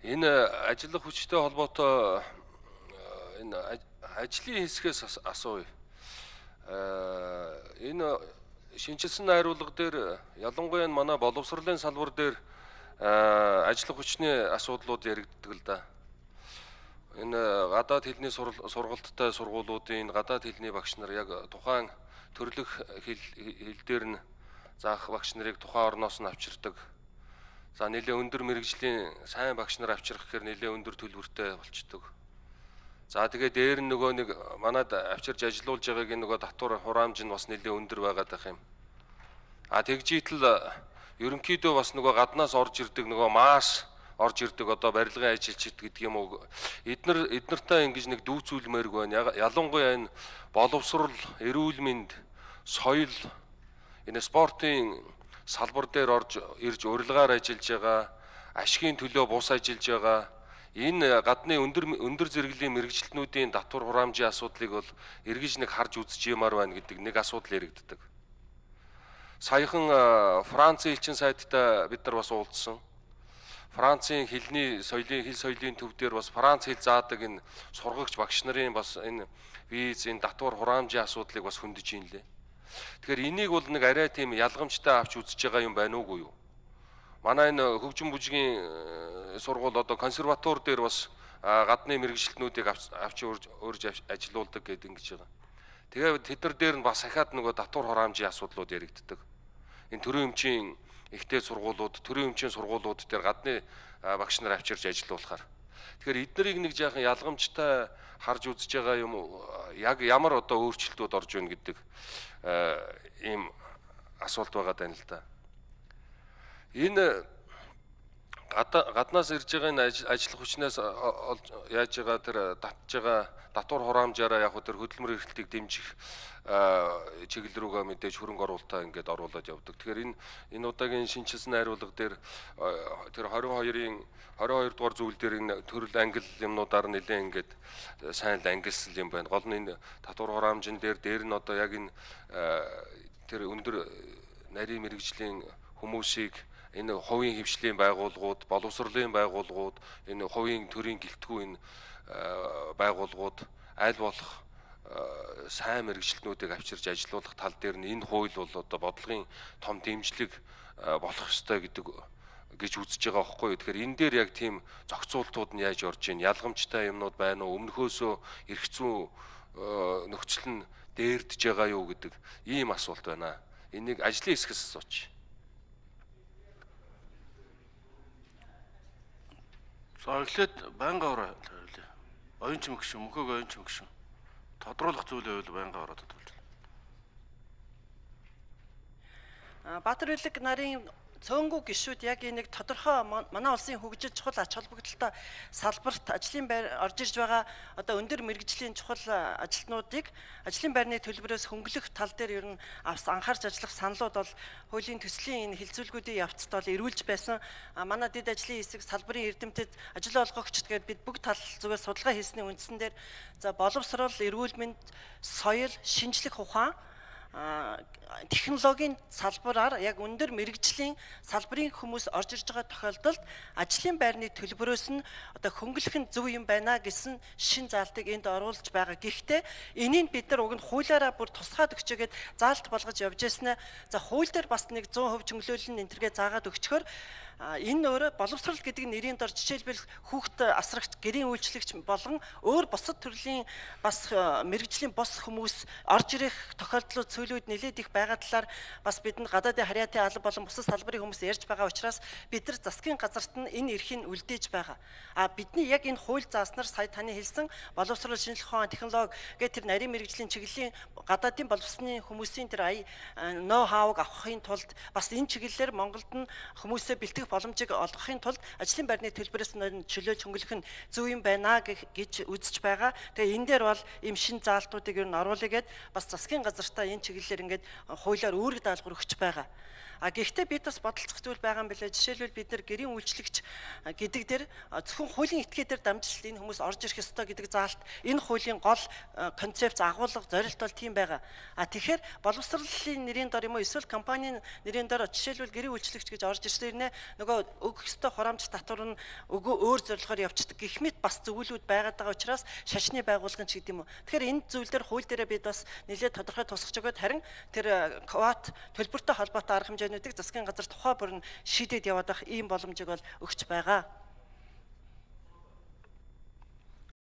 Энэ ажиллах хүчтэй холбоотой энэ ажлын хэсгээс асууя. Энэ шинжилсэн найруулга дээр ялангуяа манай боловсролын салбар дээр ажиллах хүчний асуудлууд яригддаг л да. Энэ гадаад хэлний сургалттай сургуулиудын гадаад хэлний багш нар яг тухайн төрлөх хэл дээр нь заах багш нарыг тухайн орноос нь авчирдаг. За нэлээ өндөр мэрэгжлийн сайн багш нар авчрах гэхээр нэлээ өндөр төлбөртэй болчдөг. За тэгээ дээр нь нөгөө нэг манад авчирж ажилуулж байгааг нөгөө татвар хураамж нь бас нэлээ өндөр байгаад байх юм. Тэгжийтэл ерөнхийдөө бас нөгөө гаднаас орж ирдэг нөгөө маас орж ирдэг одоо барилгын ажилчид гэдэг юм уу эднэртэй ингэж нэг дүүцүүлмээргүй байна. Ялангуяа энэ боловсрол, эрүүл мэнд, соёл энэ спортын салбар дээр орж ирж урилгаар ажиллаж байгаа, ашигын төлөө бус ажиллаж байгаа энэ гадны өндөр зэрэглэлийн мэрэгчлэнүүдийн татвар хураамжийн асуудлыг бол эргэж нэг харж үзэж ямаар байна гэдэг нэг асуудал яригддаг. Саяхан Францын элчин сайттай бид нар бас уулзсан. Францын хэл соёлын төв дээр бас Франц хэл заадаг энэ сургагч багш нарын бас энэ виз, энэ татвар хураамжийн асуудлыг бас хөндөж ийн лээ. Тэгэхээр энийг бол нэг арай тийм ялгамжтай авч үзэж байгаа юм байна уугүй юу? Манай энэ хөгжим бүжгийн сургууль одоо консерватур дээр бас гадны мэрэгчлэнүүдийг авч өөрж ажилуулдаг гэдэг ингэж байгаа. Тэгээд тэдэр дээр нь бас ахаад нөгөө татвар хураамжийн асуудлууд яригддаг. Энэ төрийн өмчийн ихтэй сургуулиуд, төрийн өмчийн сургуулиуд дээр гадны багш нар авчирж ажилуулахаар. Тэгэхээр эднэрийг нэг жаахан ялгамжтай харж үзэж байгаа юм уу? Яг ямар одоо өөрчлөлтүүд орж ийн гэдэг ийм асуулт байгаа даа л да. Энэ гаднаас ирж байгаа энэ ажиллах хүчнээс яаж байгаа тэр татж байгаа татвар хураамжаараа яг тэр хөдөлмөр эрхлэлтийг дэмжих чиглэл рүүгээ мэдээж хөрөнгө оруулалтаа ингээд оруулаад явдаг. Тэгэхээр энэ удаагийн шинжилсэн найруулга дээр тэр 22 дугаар зүйл дээр энэ төрөл англи юмнуудаар нэлээд ингээд сайн ангилсан юм байна. Гол нь энэ татвар хураамжин дээр нь одоо яг энэ тэр өндөр нарийн мэрэгжлийн хүмүүсийг энэ хувийн хвшлийн байгууллагууд, боловсролын байгууллагууд, энэ хувийн төрийн гэлтгүй энэ байгууллагууд аль болох сайн мэрэгчлэнүүдийг авчирж ажилуулах тал дээр нь энэ хууль бол одоо бодлогын том дэмжлэг болох ёстой гэдэг гэж үзэж байгаа байхгүй юу. Тэгэхээр энэ дээр яг тийм зохицуултууд нь яаж орж ийн, ялгамжтай юмнууд байна уу, өмнөхөөсөө эрх зүйн нөхцөл нь дээрдэж байгаа юу гэдэг ийм асуулт байна. Энийг ажлын хэсгээс асууч. За эхлээд байнга ороо тавилаа. Оюун чим гişүн, мөхөг оюун чим гişүн. Тодруулах зүйлээ бол байнга ороо тодруулж байна. Баатар Улиг нарын цөөнгүү гишүүд яг нэг тодорхой манай улсын хөгжил чухал ач холбогдолтой салбарт ажлын байр орж ирж байгаа одоо өндөр мэрэгжлийн чухал ажилтнуудыг ажлын байрны төлбөрөөс хөнгөлөх тал дээр ер нь анхаарч ажиллах саналууд бол хуулийн төслийн энэ хилцүүлгүүдийн явцад бол эрүүлж байсан. Манай дэд ажлын хэсэг салбарын эрдэмтэд ажил олгогчд гээд бид бүгд тал зүгээр судалгаа хийсний үндсэн дээр за боловсрол, эрүүл мэнд, соёл, шинжлэх ухаан технологийн салбараар яг өндөр мэрэгжлийн салбарын хүмүүс орж ирж байгаа тохиолдолд ажлын байрны төлбөрөөс нь одоо хөнгөлөх нь зөв юм байна гэсэн шин заалтыг энд оруулж байгаа. Гэхдээ энийг бид нар уг нь хуулиараа бүр тусгаад өгчөөгээд заалт болгож явж яснаа. За хууль дээр бас нэг 100% чөнглөөлөл нь энтергээ заагаад өгчхөр энэ өөрөө боловсрол гэдэг нэрийн дор жишээлбэл хүүхд асрагч, гэрийн үйлчлэгч болон өөр бусад төрлийн бас мэрэгжлийн бос хүмүүс орж ирэх тохиолдлууд сөүлүүд нэлээд их байгаа талаар бас бидэнд гадаадын харьяатын алба болон бусад салбарын хүмүүс ярьж байгаа учраас бид нар засгийн газарт нь энэ эрхийг үлдээж байгаа. Бидний яг энэ хууль зааснаар сая таны хэлсэн боловсрол, шинжлэх ухаан, технологи гэх тэр нарийн мэрэгжлийн чиглэлийн гадаадын боловсны хүмүүсийн тэр ноу хауг авахын тулд бас энэ чиглэлээр Монголд нь хүмүүсээ бэлтгэх боломжийг олгохын тулд ажлын байрны төлбөрөөс чөлөө чөнгөлөх нь зөв юм байна гэж үзэж байгаа. Тэгээ энэ дээр бол ийм шин заалтуудыг ер нь оруулъя гэд бас засгийн газартаа энэ чиглэлээр ингээд хуулиар үүрэг даалгавар өгч байгаа. Гэхдээ бид бас бодолцох зүйл байгаа юм билээ. Жишээлбэл бид нар гэрийн үйлчлэгч гэдэг дээр зөвхөн хуулийн этгээд дээр дамжуулалт энэ хүмүүс орж ирэх ёстой гэдэг заалт энэ хуулийн гол концепц агуулга зорилт бол тийм байгаа. Тэгэхээр боловсролын нэрийн дор юм уу эсвэл компанийн нэрийн дор жишээлбэл гэрийн үйлчлэгч гэж орж ирсээр нөгөө өгөх ёстой хураамж татвар нь өөр зорилгоор явцдаг гэх мэт бас зөвлөлүүд байгаад байгаа учраас шашны байгууллагын ч гэдэг юм уу. Тэгэхээр энэ зүйл дээр хууль дээрээ бид бас нэлээд тодорхой тусгаж өгöd харин тэр квот төлбөртэй холбоотой арга хэмжээнүүдийг засгийн газар тухай бүрэн шийдээд яваад байх ийм боломжийг бол өгч байгаа.